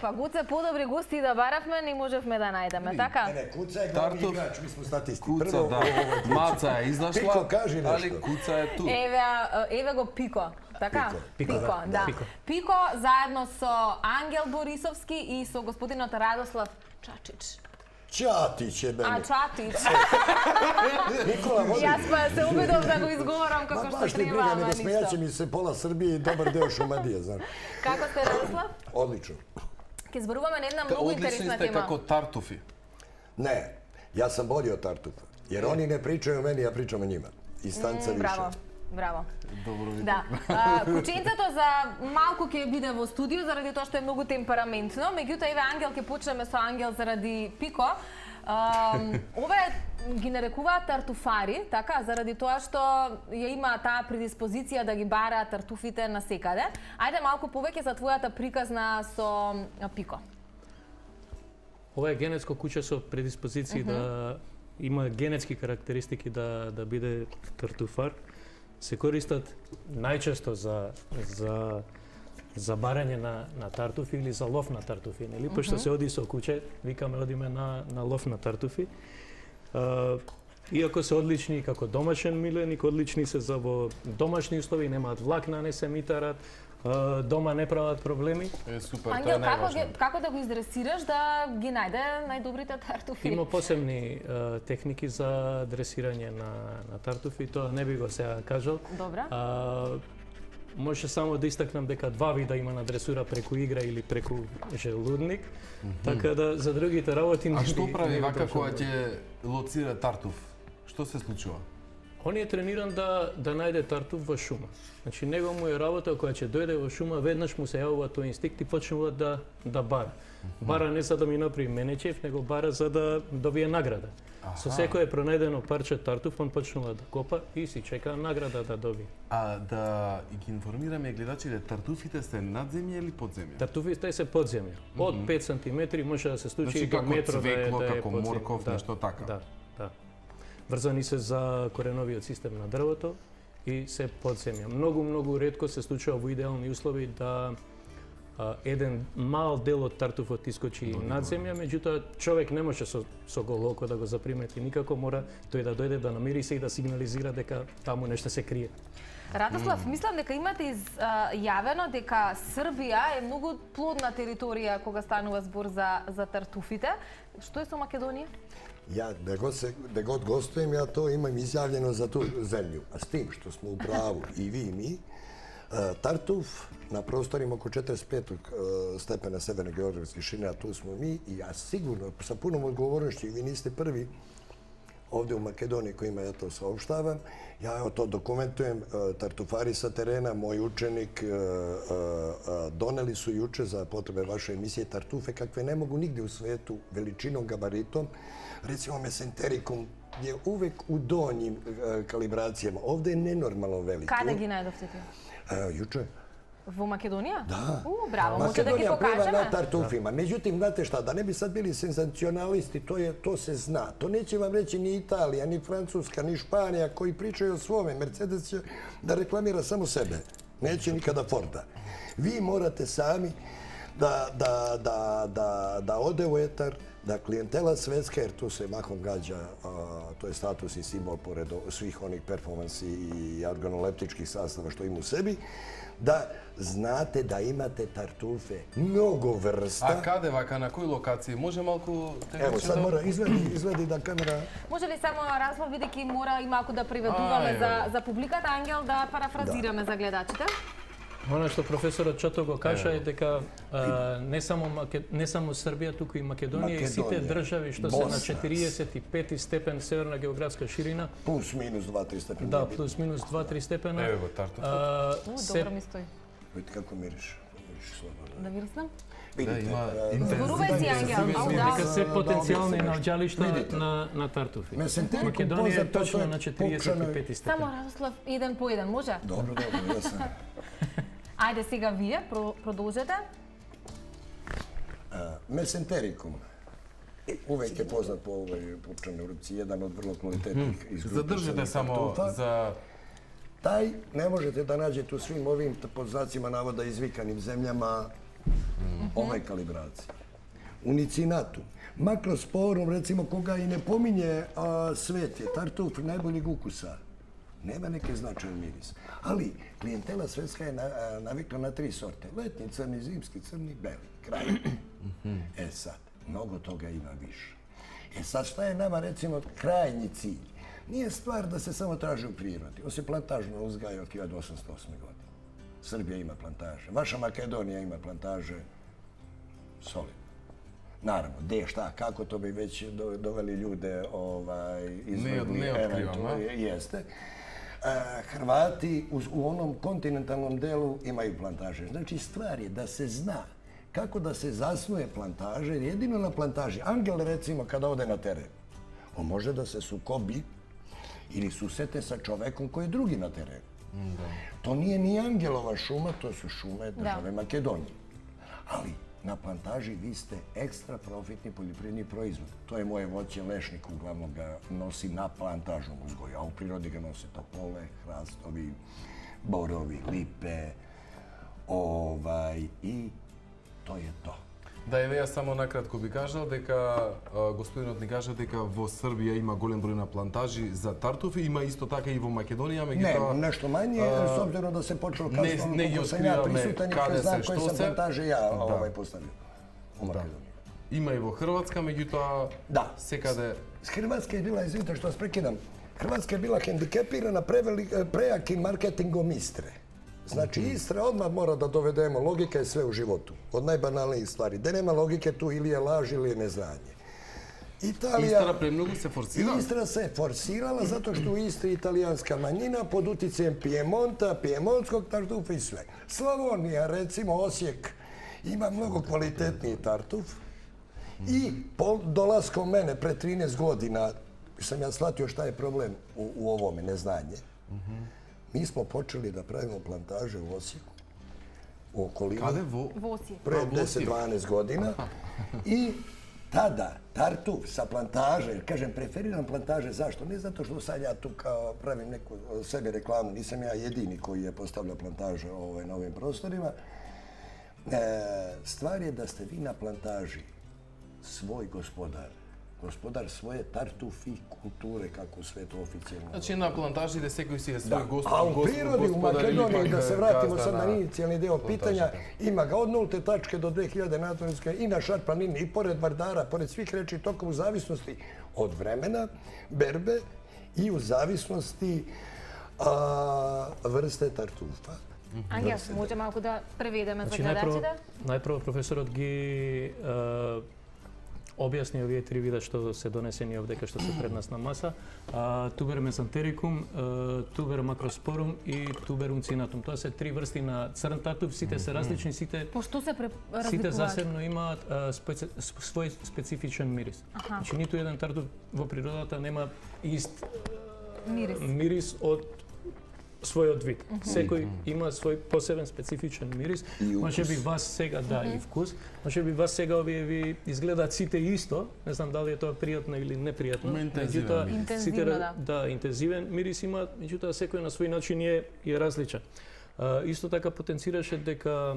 Па Гуце, подобри гости да баравме, не можевме да најдеме, така? Не, Куца е главни играч, ми смо статисти. Куца, да. Маца е изнашла, Пико, кажи нешто. али Куца е ту. Еве го Пико, така? Пико, да. Пико заедно со Ангел Борисовски и со господинот Радослав Чачич. Чатич е мене. Чатич. Никола, води. Јас па се убедов да го изговорам како што Баш ти треба, брига, ама не смејаче ништо. ми се пола Србија и добар дел Шумадија, знам. Како сте, Радослав? Одлично. Ке зборуваме на една многу интересна Одлични сте тема. како тартуфи. Не, јас сам бољи од Тартуфа. Jer oni ne pričaju o meni, ja pričam o njima. I stanca više. Браво. Добро ви. Да. Кученцето за малку ќе биде во студио заради тоа што е многу темпераментно, меѓутоа еве Ангел ќе почнеме со Ангел заради Пико. Ове ги нарекуваат тартуфари, така, заради тоа што ја има таа предиспозиција да ги бараат тартуфите на секаде. Ајде малку повеќе за твојата приказна со Пико. Ова е генетско куче со предиспозиции да има генетски карактеристики да биде тартуфар. Се користат најчесто за барање на тартуфи или за лов на тартуфи, нели? Пошто се оди со куче, викаме одиме на лов на тартуфи. Иако се одлични како домашен миленик, одлични се за во домашни услови, немаат влакна, не се митарат, дома не прават проблеми. Супер, Ангел, тоа е најважно. како да го издресираш да ги најде најдобрите тартуфи? Има посебни техники за дресирање на тартуфи, тоа не би го сега кажал. Добра. Може само да истакнам дека два вида има на дресура, преку игра или преку желудник, така да за другите работи А што прави вака кога ќе лоцира тартуф? Што се случува? Он е трениран да најде тартуф во шума. Значи него му е работа кога ќе дојде во шума, веднаш му се јавува тој инстинкт и почнува да бара. Бара не за да ми направи менечев, него бара за да добие награда. Со секое пронајдено парче тартуф, он почнува да копа и си чека награда да добие. А да ги информираме гледачите, тартуфите се надземја или подземја? Тартуфите се подземја. Од 5 сантиметри може да се случи Значи, и до како метро цвекло, да е како подземја. морков, нешто така. Да. Врзани се за кореновиот систем на дрвото и се подземја. Многу ретко се случува во идеални услови да еден мал дел од тартуфот искочи над земја, меѓутоа човек не може со голо око да го запримети никако, мора тој да дојде да намири се и да сигнализира дека таму нешто се крие. Радослав, мислам дека имате изјавено дека Србија е многу плодна територија кога станува збор за тартуфите. Што е со Македонија? Ja, gde god gostujem, ja to imam izjavljeno za tu zemlju. A s tim što smo u pravu i vi i mi, Tartuf na prostorima oko 45. stepena severne geografske širine, a tu smo mi, i ja sigurno, sa punom odgovornošću, i vi niste prvi ovdje u Makedoniji kojima ja to saopštavam, ja to dokumentujem, tartufari sa terena, moj učenik, doneli su juče za potrebe vaše emisije tartufe kakve ne mogu nigdje u svetu veličinom, gabaritom. Recimo mesenterikum je uvek u donjim kalibracijama. Ovdje je nenormalno veliki. Kada gi najdovte ti? Juče. Во Македонија? Da. Браво, може да ги Makedonija pliva покажеме? na tartufima. Međutim, znate šta, da ne bi sad bili senzacionalisti, to se zna. To neće vam reći ni Italija, ni Francuska, ni Španija koji pričaju o svome. Mercedes će da reklamira samo sebe. Neće nikada Forda. Vi morate sami da ode u etar, da klijentela svetska, jer tu se mahom gađa, to je status i simbol pored svih onih performansi i organoleptičkih sastava što ima u sebi, da znate da imate tartufe mnogo vrsta. A kade вака, на кој локација? Може малку... Evo, sad mora izvedi da kamera... Може ли само Разлов, бидејќи мора и малку да приведуваме за публиката, Ангел, да парафразираме за гледачите? Она што професорот Чото го кажа е дека не само Србија, туку и Македонија и сите држави што се на 45 степен северна географска ширина. Плюс минус 2-3 степена. Да, плюс минус 2-3 степена. Еве го тартуф. Добро ми стои. Видите како мириш. Да вириснам? Зборувај си, Ангел. Дека се потенцијални наоѓалишта на тартуфи. Македонија е точно на 45 степени. Само Радослав, еден по еден, може? Добро, јас. Ајде сега вие, продолжете. Mesenterikum. Uvek je poznat po ovoj pupčanoj ruci, jedan od vrlo kvalitetnih izgrupisanih Zaдржите само за... Taj ne možete da nađete u svim ovim, pod znacima navoda, izvikanim zemljama, Овај калибрација. Уницинатум. Макроsporum, recimo, koga i ne pominje svet je tartuf najboljeg ukusa. Nema neke značajan miris. Ali klijentela svetska je navikla na 3 sorte. Letnji, crni, zimski, crni, beli. Kraj. Sad, mnogo toga ima više. Sad šta je nama, recimo, krajnji cilj? Nije stvar da se samo traži u prirodi. On se plantažno uzgaja od 1808. godine. Srbija ima plantaže. Vaša Makedonija ima plantaže solidno. Naravno, gde, šta, kako, to bi već doveli ljude izvrgli. Ne otkrivamo. Jeste. Hrvati u onom kontinentalnom delu imaju plantaže. Znači, stvar je da se zna kako da se zasnuje plantaže, jer jedino na plantaži, angel recimo kada ode na teren, on može da se sukobi ili susete sa čovekom koji je drugi na terenu. To nije ni angelova šuma, to su šume države Makedonije. Ali na plantaži vi ste ekstra profitni poljoprivredni proizvod. To je moje voće, lešnik uglavnom ga nosi na plantažnom uzgoju, a u prirodi ga nose topole, hrastovi, borovi, lipe, i to je to. Да, еве јас само накратко би кажал дека господинот ни кажа дека во Србија има голем број на плантажи за тартуфи, има исто така и во Македонија, меѓутоа Не, нешто мање, с обзиром да се почнало касно, не сам ја присутен, каде знам се, кои што се се плантажи ја поставил у Македонија. Има и во Хрватска, меѓутоа секаде Хрватска е била, извинite што вас прекидам, Хрватска е била хендикепирана прејаким маркетингом Истре. Значи, Истра odmah mora da dovedemo, logika je sve u životu, od najbanalnijih stvari. Da nema logike tu ili je laž ili je neznanje. Истра премногу се форсира? Istra se forsirala zato što u Istri italijanska manjina pod uticajem Piemonta, piemontskog tartufa i sve. Slavonija, recimo Osijek, ima mnogo kvalitetniji tartuf i dolaskom mene pre 13 godina sam ja shvatio šta je problem u ovome, neznanje. Mi smo počeli da pravimo plantaže u Osijeku, u okolini. Kade? Во Осијек. Pre 10-12 godina. I tada tartuf sa plantaže, jer kažem, preferiram plantaže, zašto? Ne zato što sad ja tu kao pravim neku sebi reklamu, nisam ja jedini koji je postavljao plantaže na ovim prostorima. Stvar je da ste vi na plantaži svoj gospodar svoje tartufi kulture, kako sve to oficijalno. Значи на плантажите секој си е свој A u prirodi, u Makedoniji, da se vratimo sad na inicijalni deo pitanja, ima ga od 0. tačke do 2000 natonske i na Šar planini, i pored Vardara, pored svih reči toka, u zavisnosti od vremena, berbe i u zavisnosti vrste tartufa. Ангел, може малку да преведеме за гледачите? Најпрво професорот ги објасни овие 3 вида што се донесени овдека што се пред нас на маса. Тубер мезантерикум, тубер макроспорум и тубер унцинатум. Тоа се 3 врсти на црн тартуф, сите се различни, сите сите засебно имаат свој специфичен мирис. Значи ниту еден тартуф во природата нема ист мирис од својот вид. Секој има свој посебен специфичен мирис. Може би вас сега и вкус. Може би вас сега овие ви изгледаат сите исто. Не знам дали е тоа пријатно или непријатно. Интензивно, да, интензивен мирис има, меѓутоа секој на свој начин е различен. Исто така потенцираше дека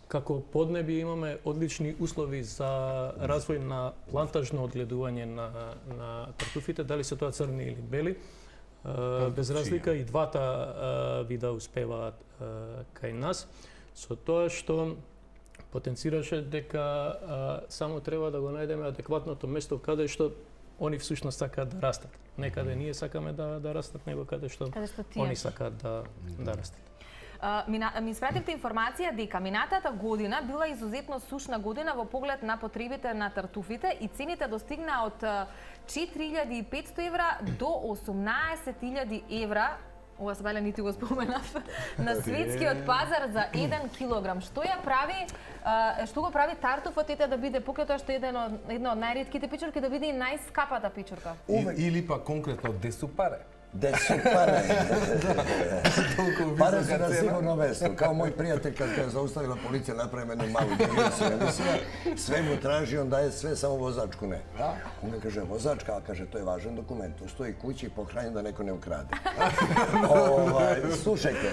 како поднебие имаме одлични услови за развој на плантажно одгледување на тартуфите, дали се тоа црни или бели. Без разлика и двата вида успеваат кај нас, со тоа што потенцираше дека само треба да го најдеме адекватното место каде што они всушност сакаат да растат. Некаде ние сакаме да растат, него каде што они сакаат да растат. Ми испративте информација дека минатата година била изузетно сушна година во поглед на потребите на тартуфите и цените достигнаа од 4.500 евра до 18.000 евра, ова се нити го споменав, на светскиот пазар за 1 килограм. Што го прави тартуфот да биде, покрај тоа што е една од најретките пичурки, да биде и најскапата пичурка? Или па конкретно де су паре? Gde su pare? Pare su na sigurno mesto. Kao moj prijatelj kad je zaustavila policija napravim jednu malu digresiju. Sve mu traži, on daje sve, samo vozačku ne. On ga kaže, vozačka, a kaže, to je važan dokument. Tu stoji kući pohranjen da neko ne ukrade. Slušajte,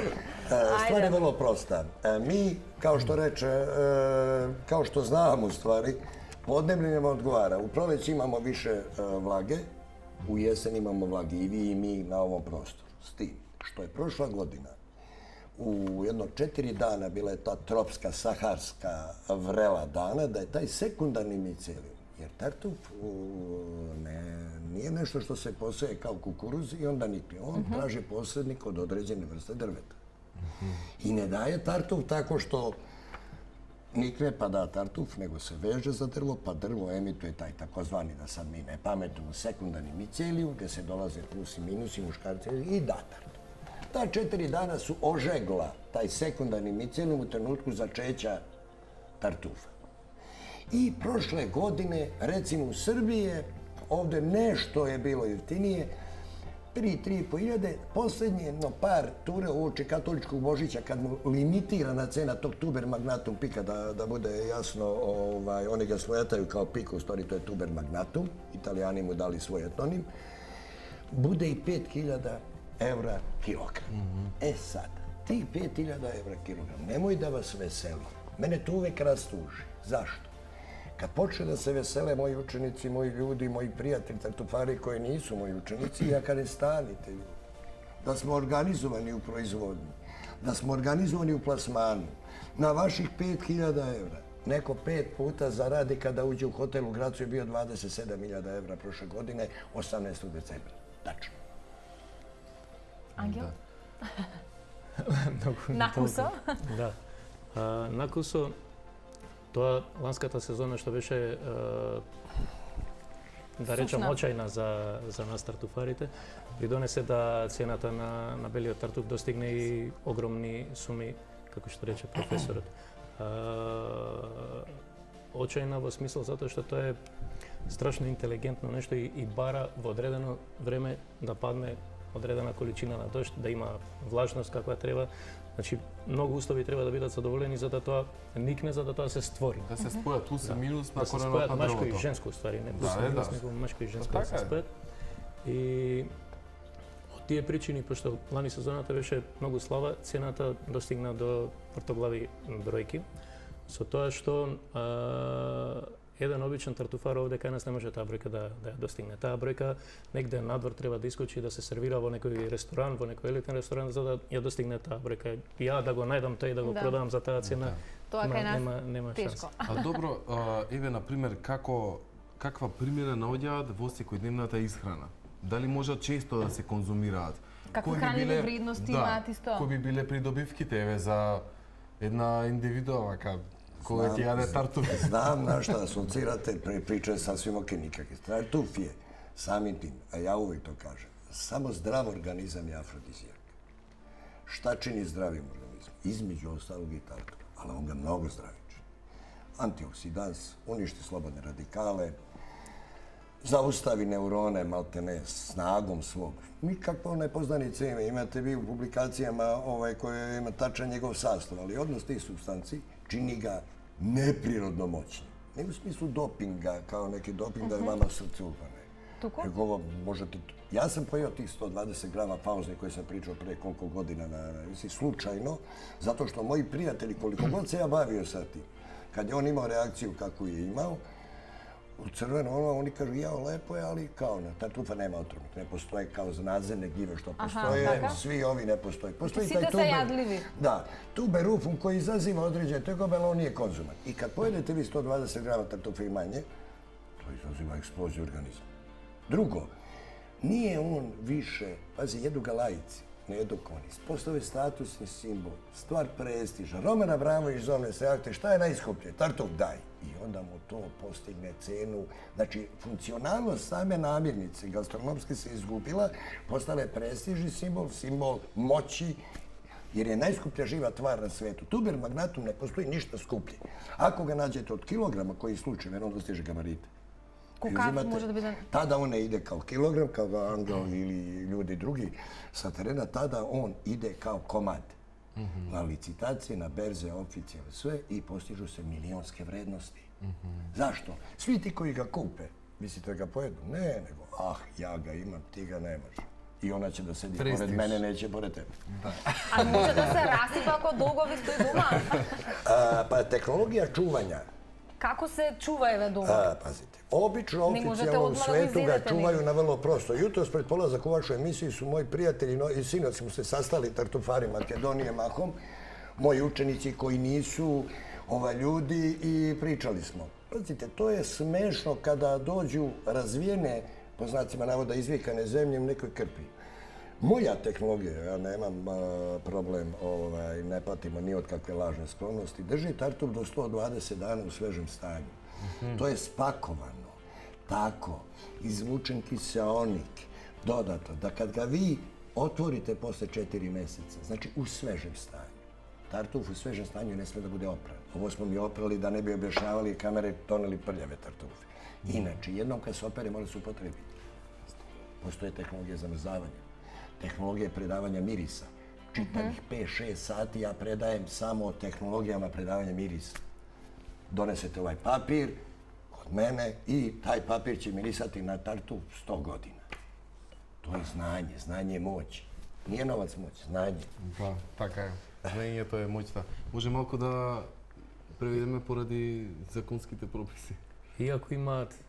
stvar je vrlo prosta. Mi, kao što reče, kao što znamo u stvari, podneblje nam odgovara. U proleći imamo više vlage, u jesen imamo vlage i vi i mi na ovom prostoru. S tim što je prošla godina u jedno 4 dana bila je ta tropska, saharska vrela dana, da je taj sekundarni micelijum, jer tartuf nije nešto što se poseje kao kukuruz i onda nikne. On traži posrednik od određene vrste drveta. I ne daje tartuf tako što nikne pa da tartuf, nego se veže za drvo, pa drvo emituje taj takozvani, da sad mi ne pametujemo, sekundarni micelijum, gdje se dolaze plus i minus i muškarci i da tartuf. Ta 4 dana su ožegla taj sekundarni micelijum u trenutku začeća tartufa. I prošle godine, recimo u Srbiji, ovdje nešto je bilo jeftinije, 3,5 hiljade, posljednje jedno par ture uoči katoličkog Božića, kad mu limitirana cena tog tuber magnatum pika, da bude jasno, oni ga svojataju kao pika, u stvari to je tuber magnatum, Italijani mu dali svoj etnonim, bude i 5.000 evra kilogram. E sad, tih 5.000 evra kilogram, nemoj da vas veseli. Mene to uvek rastuži. Zašto? Kad počne da se vesele moji učenici, moji ljudi, moji prijatelji, tartufari koji nisu moji učenici, ja kažem stanite ljudi. Da smo organizovani u proizvodnji, da smo organizovani u plasmanu, na vaših 5.000 evra, neko 5 puta zaradi kada uđe u hotel u Gracu je bio 27.000 evra prošle godine, 18. decembra. Tačno. Ангел? Накусо? Да. Накусо, тоа ланската сезона што беше да речам очајна за нас тартуфарите, придонесе да цената на белиот тартуф достигне и огромни суми, како што рече професорот. Очајна во смисол затоа што тоа е страшно интелигентно нешто и бара во одредено време да падне одредена количина на дожд, да има влажност каква треба. Значи, многу услови треба да бидат задоволени за да тоа никне, за да тоа се створи. Да се спојат плюс и минус на коренот на дрвото. Да се спојат машко и женско, уствари, не плюс и минус, него машко и женско да се спојат. И од тие причини, пошто лани сезоната беше многу слаба, цената достигна до вртоглави бројки, со тоа што еден обичен тартуфар овде кај нас не може таа бројка да ја достигне. Таа бројка негде надвор треба да искочи да се сервира во некој ресторан, во некој елитен ресторан за да ја достигне таа бројка. Ја да го најдам тој да го продавам за таа цена, тоа кај нас нема шанса. А добро, еве на пример каква примера наоѓаат во секојдневната исхрана? Дали може често да се конзумираат? Какви хранливи вредности имаат исто? Кои би биле придобивките еве за една индивидуа вака кој ќе јаде тартуф? Знам на што асоцирате, прича сасвим оке никакви. Тартуф е самим тим, а ја увек то кажем, само здрав организам е афродизијак. Šta čini zdravim organizmom? Između ostalog i tартуф, ali on ga mnogo zdravije čini. Antioksidans, uništi slobodne radikale, zaustavi neurone maltene snagom svog. Nikakva nepoznanica ima. Imate vi u publikacijama koje ima tačan njegov sastav, ali odnos tih substanci čini ga neprirodno moćnim. Ne u smislu dopinga, kao neki doping da je vama srce upane. Туку? Ja sam pojeo tih 120 grama pauzni koji sam pričao pre koliko godina slučajno, zato što moji prijatelji, koliko god se ja bavio sa tim, kad je on imao reakciju kakvu je imao, u crveno, oni kažu, jao, lepo je, ali kao na tartufa nema otrovnik. Ne postoje kao nadzemne gljive što postoje, svi ovi ne postoje. Postoji taj Svi jadljivi. Da, tuberufum koji izaziva određene tegobe, ali on nije konzuman. I kad pojedete vi 120 grama tartufa i manje, to izaziva eksploziju organizma. Drugo, nije on više, pazi, jedu ga laici, ne jedu konis. Postao je statusni simbol, stvar prestiža. Roman Abramović zove se akte, šta je najskuplje? Tartuf daj. I onda mu to postigne cenu. Znači, funkcionalnost same namirnice gastronomske se izgubila, postala je prestižni simbol, simbol moći, jer je najskuplja živa tvar na svetu. Tuber magnatum ne postoji ništa skuplje. Ako ga nađete od kilograma, koji slučaj, on dostiže gabarite. Колкав може да биде? Tada on ne ide kao kilogram, kao Angel ili ljudi drugi sa terena, tada on ide kao komad. Na licitacije, na berze, oficijalne, sve i postižu se milionske vrednosti. Zašto? Svi ti koji ga kupe, mislite ga pojedu? Ne, nego, ja ga imam, ti ga nemaš. I ona će da sedi pored mene, neće pored tebe. A može da se rasipa ako dugo vi stoji doma? Pa tehnologija čuvanja. Kako se čuva eve dugo? Pazite, obično oficijalno u svetu ga čuvaju na vrlo prosto. Jutros pred polazak u vašu emisiju su moji prijatelji i sinoć smo se sastali, tartufari Makedonije mahom, moji učenici koji nisu ljudi i pričali smo. Pazite, to je smešno kada dođu razvijene, po znacima navoda, izvikane zemlje u nekoj krpi. Moja tehnologija, ja nemam problem, ne patimo ni od kakve lažne sklonosti, drži tartuf do 120 dana u svežem stanju. To je spakovano, tako, izvučen kiseonik, dodato, da kad ga vi otvorite posle 4 meseca, znači u svežem stanju, tartuf u svežem stanju ne sme da bude opran. Ovo smo mi oprali da ne bi objašnjavali kamere toneli prljave tartufe. Inače, jednom kad se opere mora se upotrebiti. Postoje tehnologija zamrzavanja, tehnologija predavanja mirisa. Čitavih 5-6 sati ja predajem samo o tehnologijama predavanja mirisa. Donesete ovaj papir kod mene i taj papir će mirisati na tartuf 100 godina. To je znanje, znanje je moć. Nije novac moć, znanje. Да, така е. Знаењето е моќта. Може малку да преведеме поради законските прописи. Иако имаат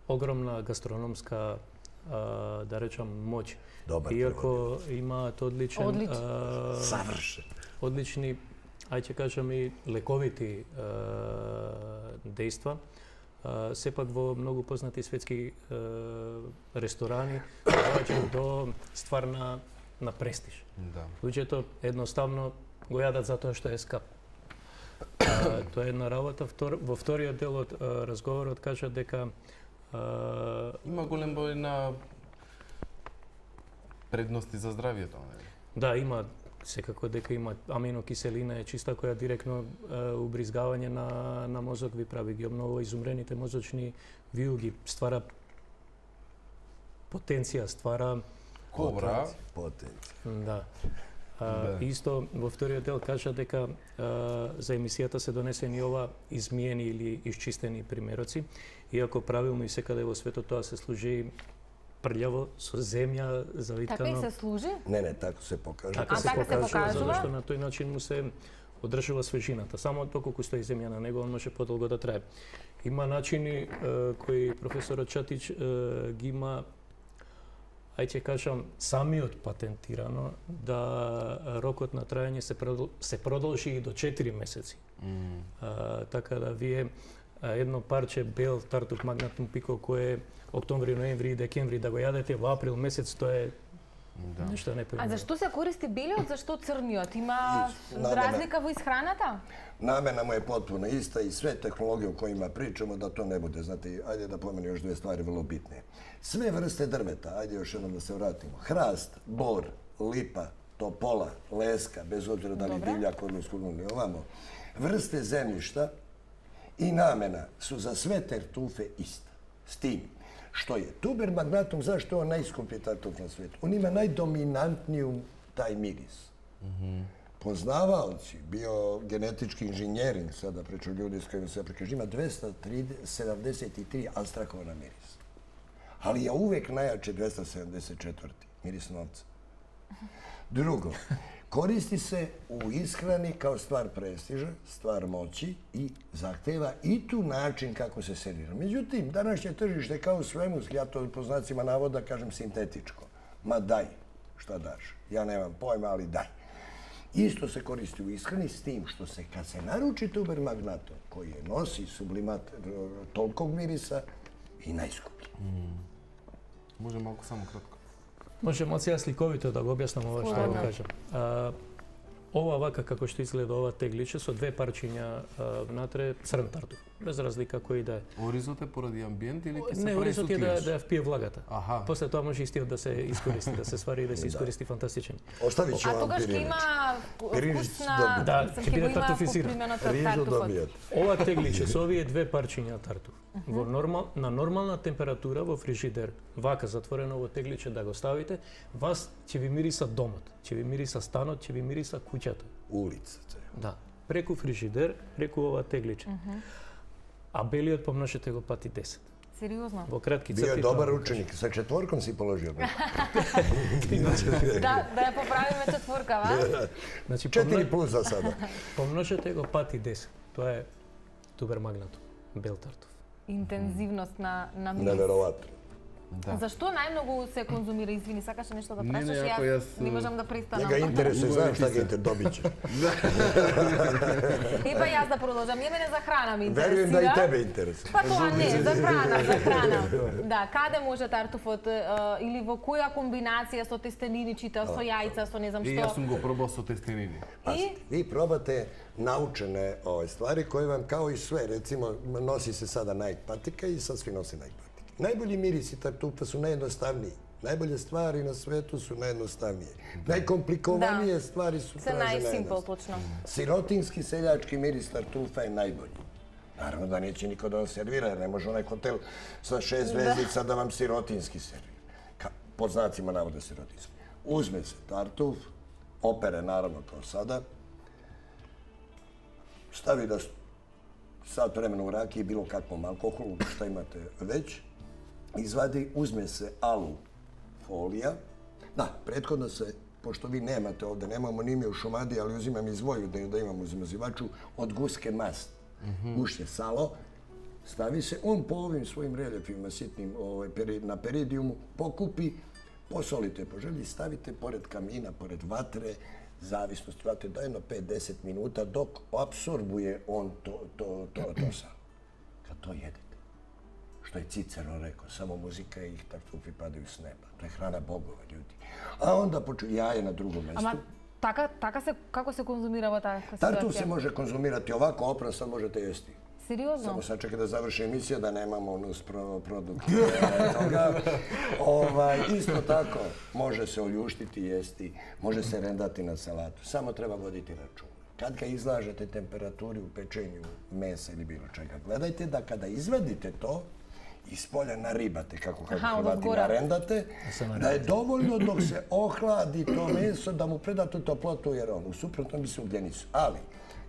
огромна гастрономска, да речам, моќ, иако имаат одлични, ајде кажам и лековити дејства, сепак во многу познати светски ресторани доаѓаат до ствар на престиж. Луѓето едноставно го јадат затоа што е скап. Тоа е една работа. Во вториот дел од разговорот кажа дека има голем број на предности за здравието, нели? Да, има секако дека има аминокиселина е чиста која директно убризгавање на мозок ви прави, ги обновува изумрените мозочни виуги, ствара потенција, ствара кобра. Да. Исто во вториот дел кажа дека за емисијата се донесени ова измиени или исчистени примероци, иако правилно и секаде во светот тоа се служи прљаво со земја завиткано. Така и се служи? Не, тако се покажува. Така се покажува, затоа што на тој начин му се одржува свежината. Само доколку стои земја на него, он може подолго да трае. Има начини кои професорот Чатич ги има, ајде кажам, самиот патентирано, да рокот на трајање се продолжи и до 4 месеци. Така да вие едно парче бел тартуф магнатум пико кое октомври, ноември и декември да го јадете во април месец, тоа е нешто непојмливо. А зашто се користи белиот, зашто црниот? Има разлика во исхраната? Намена му е потpuno иста и све технологije o kojima pričamo da to ne bude. Znate, ajde da pomenem još 2 stvari vrlo bitne. Sve vrste drveta, ajde još jednom da se vratimo. Hrast, bor, lipa, topola, leska, bez obzira da li divljak, odnosno ili ovamo. Vrste zemljišta i namena su za sve tartufe ista. S tim što je tuber magnatum, zašto je on najskuplji tartuf na svijetu? On ima najdominantniju taj miris. Poznavaoci, biogenetički inženjering, sada priču ljudi s kojima se prikažu, ima 273 alstrakovana mirisa. Ali je uvek najjače 274. miris novca. Drugo, koristi se u ishrani kao stvar prestiža, stvar moći i zahteva i tu način kako se servira. Međutim, današnje tržište kao u svemu, ja to po znacima navoda kažem sintetičko. Ma daj, šta daš? Ja nemam pojma, ali daj. Isto se koristi u ishrani s tim što se kad se naruči tuber magnatum koji nosi sublimat tolikog mirisa i najskuplji. Може малку само кратко. Може малку сега сликовито да го објаснам ова што го кажам. Ова вака како што изгледа ова тегличе со 2 парчиња внатре црн тартуф. без разлика кој да е. Оризот е поради амбиент или ќе се Не, прави оризот е да ја впие влагата. Аха. После тоа може истиот да се искористи, да се свари и да се искористи фантастичен. Остави ќе А вам тогаш ќе пиринич. има Пиринич вкусна... Да, мислам, ќе биде го има тартуфизиран. попримена од Рижу тартуфот. добијат. Ова тегличе со овие две парчиња тартуф на нормална температура во фрижидер, вака затворено во тегличе да го ставите, вас ќе ви мириса домот, ќе ви мириса станот, ќе ви мириса куќата. Улицата. Да, преку фрижидер, преку ова тегличе. А белиот помножете го пати 10. Сериозно? Во кратки Био црти. е добар ученик, со четворком си положил. Да ја поправиме четворка, ва? Значи 4 за сада. помножете го пати 10. Тоа е тубер магнатум, бел тартуф. Интензивност на мирис. Неверојатно. Да. Зашто најмногу се конзумира? Извини, сакаше нешто да Не, прашаш? ако Јас јас, не можам да престанам. Njega interesuje, znam šta ga dobit će. Епа јас да продолжам. Ја мене за храна ми интересира. Verujem da i tebe interesuje. Па тоа не, за храна. Да, каде може тартуфот или во која комбинација со тестенини, чита, со јајца, со не знам И што. јас сум го пробал со тестенини. Pazite, vi probate naučene stvari koje vam kao i sve, recimo nosi se sada Nike patika i sad svi nose Nike patike. Najbolji mirisi tartufa su najjednostavniji. Najbolje stvari na svetu su najjednostavnije. Najkomplikovanije stvari su Се traže најсимпл, najjednostavnije. точно. Sirotinski seljački miris tartufa je najbolji. Naravno da neće niko da vam servira, jer ne može onaj hotel sa 6 zvezdica da vam sirotinski servira. Pod znacima navode sirotinski. Uzme se tartuf, opere naravno kao sada, stavi da sat vremena u rakiji, bilo kakvom alkoholu, šta imate već, izvadi, uzme se alu folija. Da, prethodno se, pošto vi nemate ovde, nemamo ni mi u Šumadiji, ali uzimam iz Vojvodine da imam u zmazivaču, od guske mast. Gušće salo, stavi se, on po ovim svojim reljefima sitnim na peridijumu pokupi, posolite po želji, stavite pored kamina, pored vatre, zavisnosti vatre, da jedno 5-10 minuta dok apsorbuje on to salo. Kad to jedete, što je Cicero rekao, samo muzika i tartufi padaju s neba. To je hrana bogova, ljudi. A onda jaje na drugom mestu. Ама така се како се конзумира таа ситуација? Tartuf se može konzumirati ovako, opran sad možete jesti. Сериозно? Samo sad čekaj da završi emisija da nemamo nus produkt toga. Isto tako, može se oljuštiti, jesti, može se rendati na salatu. Samo treba voditi računa. Kad ga izlažete temperaturi u pečenju mesa ili bilo čega, gledajte da kada izvadite to, iz polja naribate, kako Hrvati narendate, da je dovoljno dok se ohladi to meso da mu predate toplotu, jer u suprotnom bi se ugljenicu. Ali,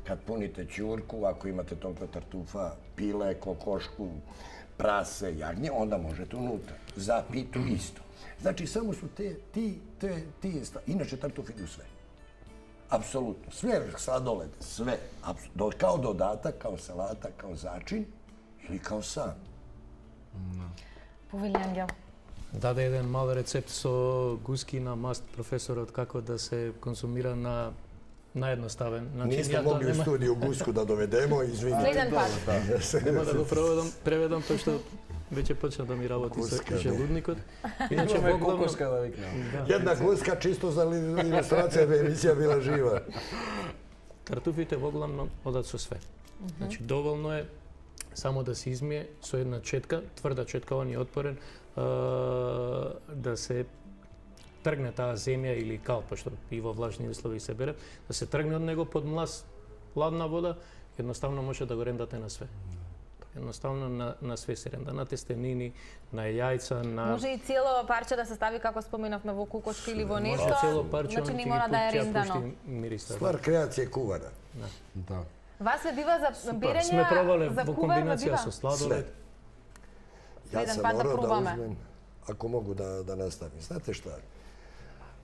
kad punite ćurku, ako imate toliko tartufa, pile, kokošku, prase, jagnje, onda možete unutra. Za pitu isto. Znači, samo su ti stvari. Inače, tartuf ide u sve. Apsolutno. Sve sladolede, sve. Kao dodatak, kao salata, kao začin ili kao sam. Повели Ангел. Даде еден мал рецепт со гуски на маст професорот како да се консумира на наедноставен начин. Nismo mogli u studiju gusku da dovedemo, izvinite. Следен пат. Нема да го преведам, тоа што веќе почна да ми работи со желудникот. Иначе Имаме кокошка да викнем. Jedna guska čisto za ilustracija bi emisija bila živa. Тартуфите во главном одат со све. Значи доволно е само да се измие со една четка, тврда четка, он е отпорен, да се тргне таа земја или кал, пошто и во влажни услови се бере, да се тргне од него под млас, ладна вода, едноставно може да го рендате на све. Едноставно на све се ренда, на тестенини, на јајца, на... Може и цело парче да се стави, како споменавме, во кукошка или во нешто. Може цело парче, значи он не ќе мора ги да е ќе рендано. пушти мириса. Stvar kreacije kuvara. Да. Вас се бива за берење, Сме пробале за во кувар, комбинација бива? со сладолед. Ja Jedan sam pad da morao da probame. uzmem, ako mogu da nastavim. Znate šta?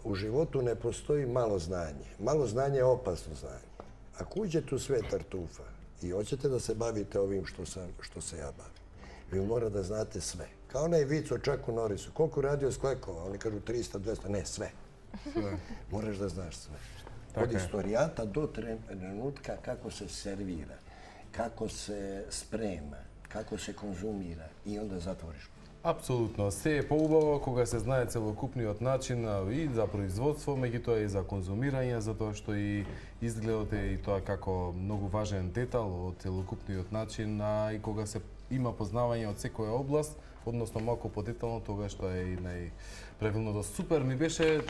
U životu ne postoji malo znanje. Malo znanje je opasno znanje. Ako uđete u sve tartufa i hoćete da se bavite ovim što se ja bavim, vi mora da znate sve. Kao onaj vic o Čaku Norisu. Koliko radio sklekova? Oni kažu 300, 200. Ne, sve. Moraš da znaš sve. Od istorijata do trenutka kako se servira, kako se sprema, kako se konzumira i onda zatvoriš. Апсолутно. Се е поубаво кога се знае целокупниот начин и за производство, меѓутоа и за конзумирање, затоа што и изгледот е и тоа како многу важен детал од целокупниот начин, а и кога се има познавање од секоја област, односно малку подетално, тогаш тоа е и најправилното. Супер ми беше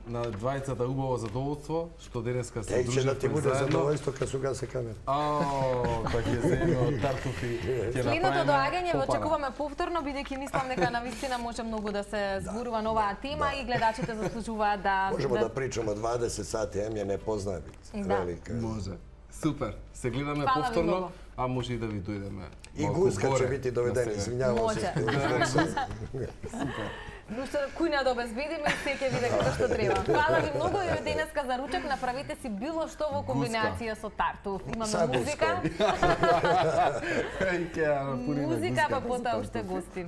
на двајцата убаво задоволство што денеска се дружевме заедно. Ќе да ти буде заедно. задоволство кога се угаси камера. Па ќе земе од тартуфи. Следното доаѓање го очекуваме повторно, бидејќи мислам дека навистина може многу да се зборува на оваа тема и гледачите заслужуваат да... Можемо да причаме 20 сати, ја не познаваме. Велика. Може. Супер. Се гледаме Фала ви повторно, многу. а може и да ви дојдеме. И малку Гуска горе ќе биде доведен, на сега. извинјавам се. Нушто кујна да обезбедиме и се ќе биде како што треба. Фала ви многу и денеска за ручек направите си било што во комбинација со тартуф. Имаме музика. Музика, Музика, па потоа уште гости.